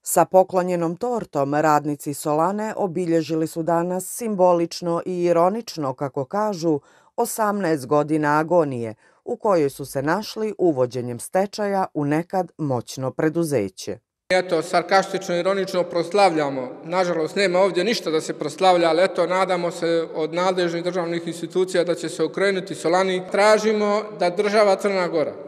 Sa poklonjenom tortom radnici Solane obilježili su danas simbolično i ironično, kako kažu, 18 godina agonije u kojoj su se našli uvođenjem stečaja u nekad moćno preduzeće. Eto, sarkastično i ironično proslavljamo. Nažalost, nema ovdje ništa da se proslavlja, ali eto, nadamo se od nadležnih državnih institucija da će se okrenuti Solani. Tražimo da država Crna Gora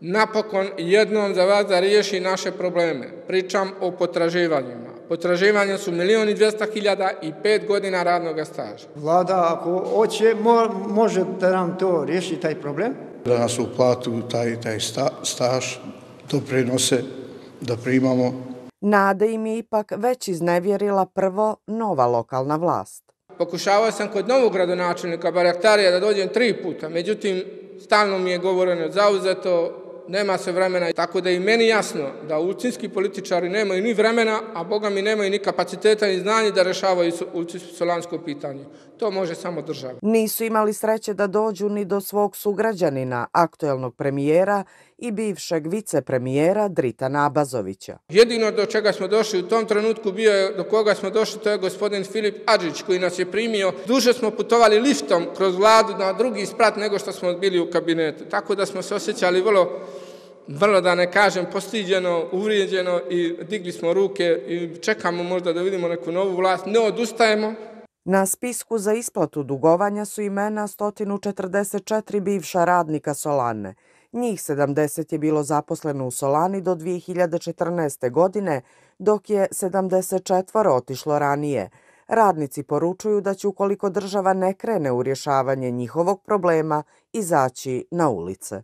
napokon jednom za vas da riješi naše probleme. Pričam o potraživanjima. Potraživanja su 1.200.000 i 5 godina radnog staža. Vlada, ako hoće, može da nam to riješi taj problem. Da nas uplatu taj staž, doprinose da primamo. Nade im je ipak već iznevjerila prvo nova lokalna vlast. Pokušavao sam kod novog gradonačelnika Baraktarija da dođem 3 puta, međutim, stalno mi je govoreno zauzeto, nema se vremena. Tako da je i meni jasno da ulcinski političari nemaju ni vremena, a boga mi nemaju ni kapaciteta ni znanja da rešavaju ulcinsko-solansko pitanje. To može samo država. Nisu imali sreće da dođu ni do svog sugrađanina, aktuelnog premijera i bivšeg vicepremijera Dritana Abazovića. Jedino do čega smo došli u tom trenutku do koga smo došli, to je gospodin Filip Adžić koji nas je primio. Duže smo putovali liftom kroz vladu na drugi sprat nego što smo bili u kabinetu. Tako da smo se osjećali vrlo da ne kažem postiđeno, uvrijeđeno i digli smo ruke i čekamo možda da vidimo neku novu vlast. Ne odustajemo. Na spisku za isplatu dugovanja su imena 144 bivša radnika Solane. Njih 70 je bilo zaposleno u Solani do 2014. godine, dok je 74 otišlo ranije. Radnici poručuju da će, ukoliko država ne krene u rješavanje njihovog problema, izaći na ulice.